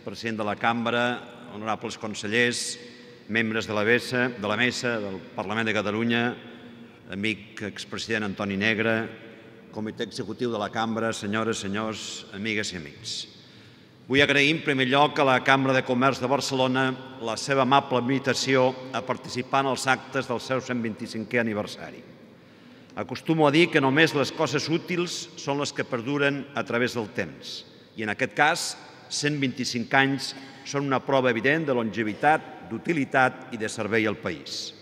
president de la Cambra, honorables consellers, membres de la mesa del Parlament de Catalunya, amic expresident Antoni Negre, comitè executiu de la Cambra, senyores, senyors, amigues i amics. Vull agrair en primer lloc a la Cambra de Comerç de Barcelona la seva amable invitació a participar en els actes del seu 125è aniversari. Acostumo a dir que només les coses útils són les que perduren a través del temps i en aquest cas 125 anys són una prova evident de longevitat, d'utilitat i de servei al país.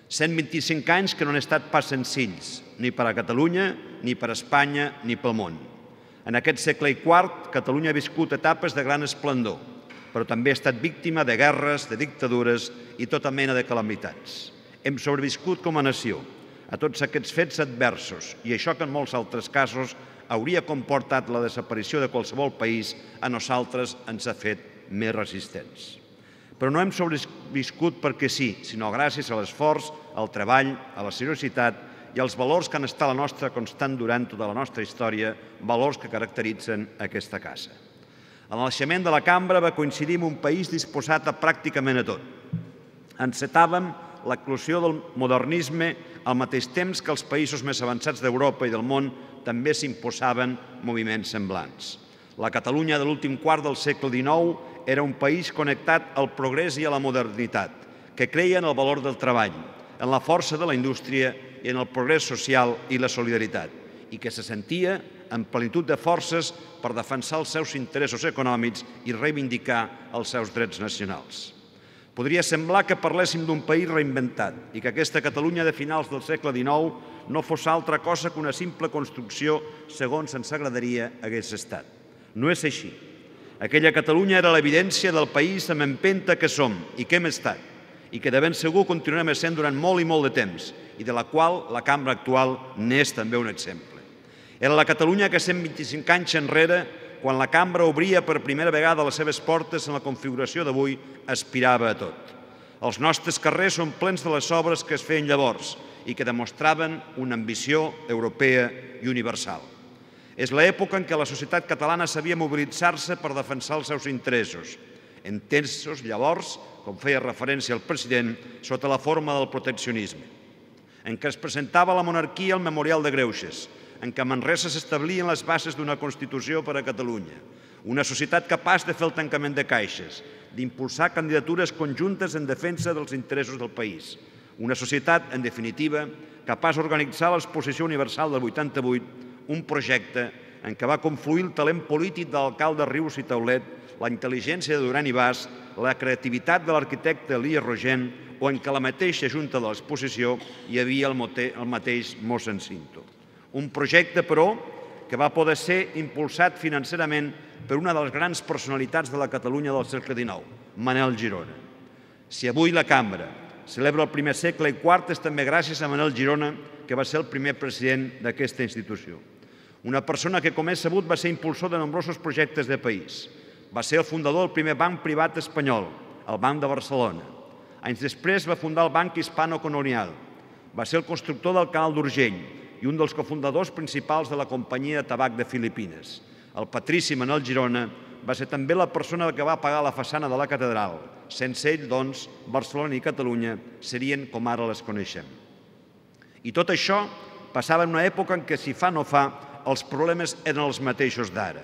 125 anys que no han estat pas senzills, ni per a Catalunya, ni per a Espanya, ni pel món. En aquest segle i quart, Catalunya ha viscut etapes de gran esplendor, però també ha estat víctima de guerres, de dictadures i tota mena de calamitats. Hem sobreviscut com a nació a tots aquests fets adversos i això que en molts altres casos hauria comportat la desaparició de qualsevol país, a nosaltres ens ha fet més resistents. Però no hem sobreviscut perquè sí, sinó gràcies a l'esforç, al treball, a la seriositat i als valors que han estat la nostra constant durant tota la nostra història, valors que caracteritzen aquesta casa. El naixement de la Cambra va coincidir amb un país disposat a pràcticament a tot. Encetàvem l'eclosió del modernisme al mateix temps que els països més avançats d'Europa i del món també s'imposaven moviments semblants. La Catalunya de l'últim quart del segle XIX era un país connectat al progrés i a la modernitat, que creia en el valor del treball, en la força de la indústria i en el progrés social i la solidaritat, i que se sentia en plenitud de forces per defensar els seus interessos econòmics i reivindicar els seus drets nacionals. Podria semblar que parléssim d'un país reinventat i que aquesta Catalunya de finals del segle XIX no fos altra cosa que una simple construcció segons ens agradaria hagués estat. No és així. Aquella Catalunya era l'evidència del país amb empenta que som i que hem estat i que de ben segur continuarem essent durant molt i molt de temps i de la qual la Cambra actual n'és també un exemple. Era la Catalunya que 125 anys enrere, quan la Cambra obria per primera vegada les seves portes en la configuració d'avui, aspirava a tot. Els nostres carrers són plens de les obres que es feien llavors i que demostraven una ambició europea i universal. És l'època en què la societat catalana sabia mobilitzar-se per defensar els seus interessos, entesos llavors, com feia referència el president, sota la forma del proteccionisme, en què es presentava la monarquia al Memorial de Greuges, en què a Manresa s'establien les bases d'una Constitució per a Catalunya, una societat capaç de fer el tancament de caixes, d'impulsar candidatures conjuntes en defensa dels interessos del país, una societat, en definitiva, capaç d'organitzar l'exposició universal del 88, un projecte en què va confluir el talent polític de l'alcalde Rius i Taulet, la intel·ligència de Duran i Bas, la creativitat de l'arquitecte Elies Rogent o en què a la mateixa junta de l'exposició hi havia el mateix mossèn Cinto. Un projecte, però, que va poder ser impulsat financerament per una de les grans personalitats de la Catalunya del segle XIX, Manel Girona. Si avui la Cambra celebra el primer segle i quart és també gràcies a Manel Girona, que va ser el primer president d'aquesta institució. Una persona que, com és sabut, va ser impulsor de nombrosos projectes de país. Va ser el fundador del primer banc privat espanyol, el Banc de Barcelona. Anys després va fundar el Banc Hispano-Colonial. Va ser el constructor del Canal d'Urgell i un dels cofundadors principals de la companyia de tabac de Filipines. El patrici Manel Girona va ser també la persona que va pagar la façana de la catedral. Sense ell, doncs, Barcelona i Catalunya serien com ara les coneixem. I tot això passava en una època en què, si fa no fa, els problemes eren els mateixos d'ara.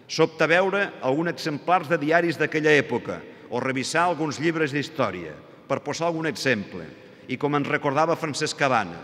Sobta veure alguns exemplars de diaris d'aquella època o revisar alguns llibres d'història, per posar algun exemple. I com ens recordava Francesc Cabana,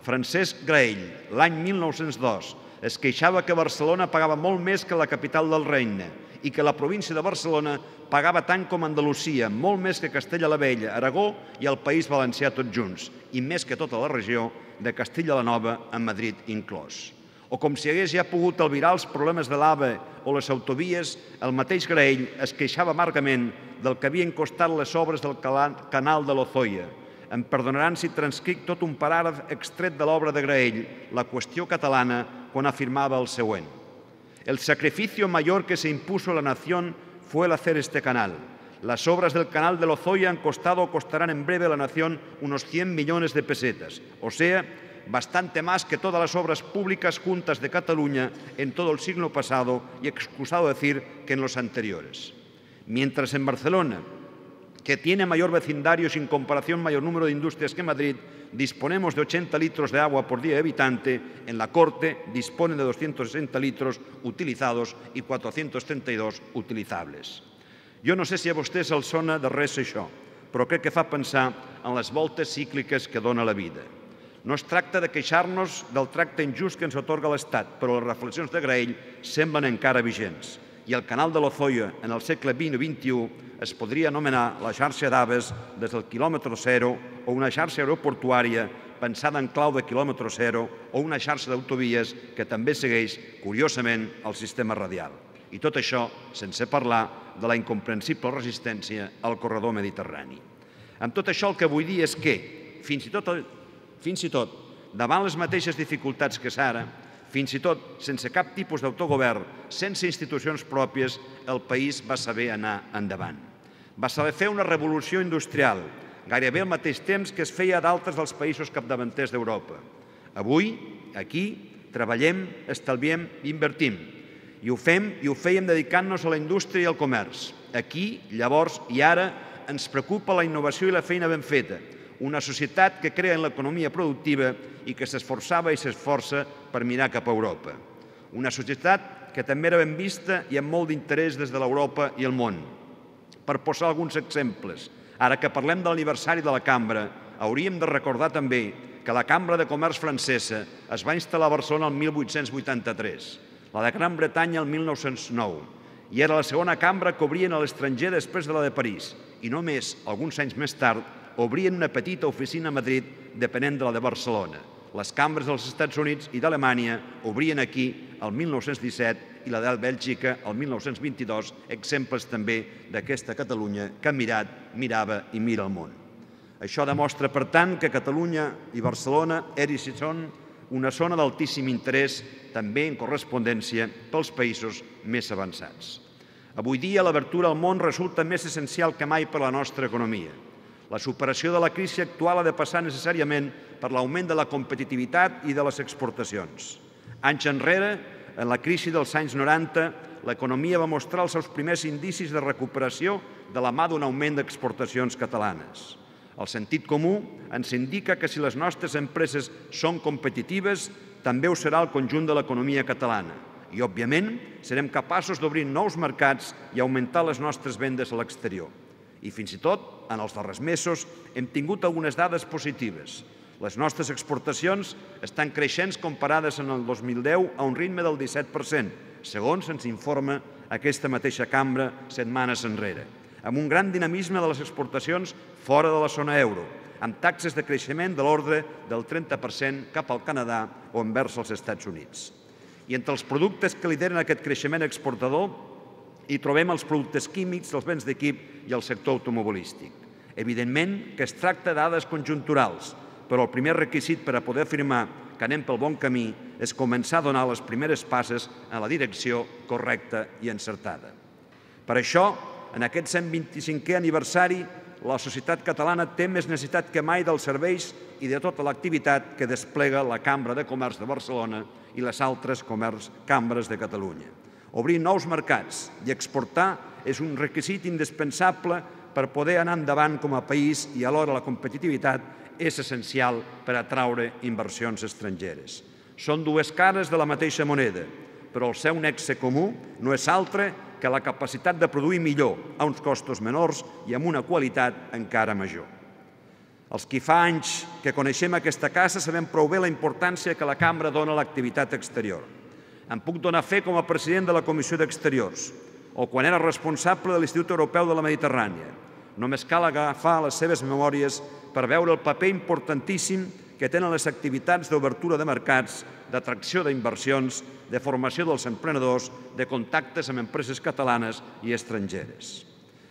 Francesc Graell, l'any 1902, es queixava que Barcelona pagava molt més que la capital del regne i que la província de Barcelona pagava tant com Andalusia, molt més que Castella la Vella, Aragó i el País Valencià tots junts, i més que tota la regió de Castilla la Nova, amb Madrid inclòs. O com si hagués ja pogut albirar els problemes de l'AVE o les autovies, el mateix Graell es queixava amargament del que havien costat les obres del canal de Lozoya. Em perdonaran si transcric tot un paràgraf extret de l'obra de Graell, La qüestió catalana, quan afirmava el següent. El sacrificio mayor que se impuso a la nación fue el hacer este canal. Las obras del canal de Lozoya han costado o costarán en breve a la nación unos 100 millones de pesetas, o sea, bastante más que todas las obras públicas juntas de Cataluña en todo el siglo pasado y excusado decir que en los anteriores. Mientras en Barcelona, que tiene mayor vecindario y sin comparación mayor número de industrias que Madrid, disponemos de 80 litros de agua por día de habitante, en la Corte disponen de 260 litros utilizados i 432 utilitzables. Jo no sé si a vostès els sona de res això, però crec que fa pensar en les voltes cícliques que dona la vida. No es tracta de queixar-nos del tracte injust que ens atorga l'Estat, però les reflexions de Graell semblen encara vigents. I el canal de l'Ozoia, en el segle XX i XXI, es podria anomenar la xarxa d'Aves des del quilòmetre zero o una xarxa aeroportuària pensada en clau de quilòmetre zero o una xarxa d'autovies que també segueix, curiosament, el sistema radial. I tot això sense parlar de la incomprensible resistència al corredor mediterrani. Amb tot això el que vull dir és que, fins i tot, davant les mateixes dificultats que Sara, fins i tot sense cap tipus d'autogovern, sense institucions pròpies, el país va saber anar endavant. Va saber fer una revolució industrial, gairebé al mateix temps que es feia a d'altres dels països capdavanters d'Europa. Avui, aquí, treballem, estalviem i invertim. I ho fèiem dedicant-nos a la indústria i al comerç. Aquí, llavors i ara, ens preocupa la innovació i la feina ben feta. Una societat que crea en l'economia productiva i que s'esforçava i s'esforça per mirar cap a Europa. Una societat que també era ben vista i amb molt d'interès des de l'Europa i el món. Per posar alguns exemples, ara que parlem de l'aniversari de la Cambra, hauríem de recordar també que la Cambra de Comerç francesa es va instal·lar a Barcelona el 1883, la de Gran Bretanya el 1909, i era la segona cambra que obrien a l'estranger després de la de París, i només, alguns anys més tard, obrien una petita oficina a Madrid depenent de la de Barcelona. Les cambres dels Estats Units i d'Alemanya obrien aquí el 1917 i la de Bèlgica el 1922, exemples també d'aquesta Catalunya que ha mirat, mirava i mira el món. Això demostra, per tant, que Catalunya i Barcelona eren i són una zona d'altíssim interès, també en correspondència pels països més avançats. Avui dia, l'obertura al món resulta més essencial que mai per a la nostra economia. La superació de la crisi actual ha de passar necessàriament per l'augment de la competitivitat i de les exportacions. Anys enrere, en la crisi dels anys 90, l'economia va mostrar els seus primers indicis de recuperació de la mà d'un augment d'exportacions catalanes. El sentit comú ens indica que si les nostres empreses són competitives, també ho serà el conjunt de l'economia catalana. I, òbviament, serem capaços d'obrir nous mercats i augmentar les nostres vendes a l'exterior. I fins i tot, en els darrers mesos, hem tingut algunes dades positives. Les nostres exportacions estan creixents comparades en el 2010 a un ritme del 17%, segons ens informa aquesta mateixa cambra setmanes enrere, amb un gran dinamisme de les exportacions fora de la zona euro, amb taxes de creixement de l'ordre del 30% cap al Canadà o envers els Estats Units. I entre els productes que lideren aquest creixement exportador hi trobem els productes químics, els béns d'equip i el sector automobilístic. Evidentment que es tracta de dades conjunturals, però el primer requisit per a poder afirmar que anem pel bon camí és començar a donar les primeres passes en la direcció correcta i encertada. Per això, en aquest 125è aniversari, la societat catalana té més necessitat que mai dels serveis i de tota l'activitat que desplega la Cambra de Comerç de Barcelona i les altres cambres de Catalunya. Obrir nous mercats i exportar és un requisit indispensable per poder anar endavant com a país i alhora la competitivitat és essencial per atraure inversions estrangeres. Són dues cares de la mateixa moneda, però el seu nexe comú no és altre que la capacitat de produir millor, a uns costos menors i amb una qualitat encara major. Els qui fa anys que coneixem aquesta casa sabem prou bé la importància que la Cambra dona a l'activitat exterior. Em puc donar fe com a president de la Comissió d'Exteriors o quan era responsable de l'Institut Europeu de la Mediterrània. Només cal agafar les seves memòries per veure el paper importantíssim que tenen les activitats d'obertura de mercats, d'atracció d'inversions, de formació dels emprenedors, de contactes amb empreses catalanes i estrangeres.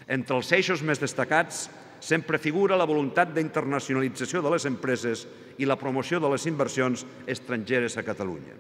Entre els eixos més destacats sempre figura la voluntat d'internacionalització de les empreses i la promoció de les inversions estrangeres a Catalunya.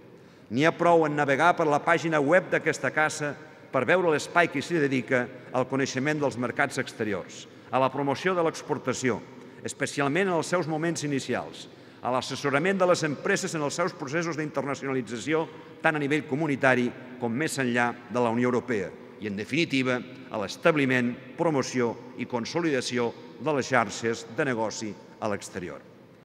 N'hi ha prou en navegar per la pàgina web d'aquesta casa per veure l'espai que s'hi dedica al coneixement dels mercats exteriors, a la promoció de l'exportació, especialment en els seus moments inicials, a l'assessorament de les empreses en els seus processos d'internacionalització tant a nivell comunitari com més enllà de la Unió Europea i, en definitiva, a l'establiment, promoció i consolidació de les xarxes de negoci a l'exterior.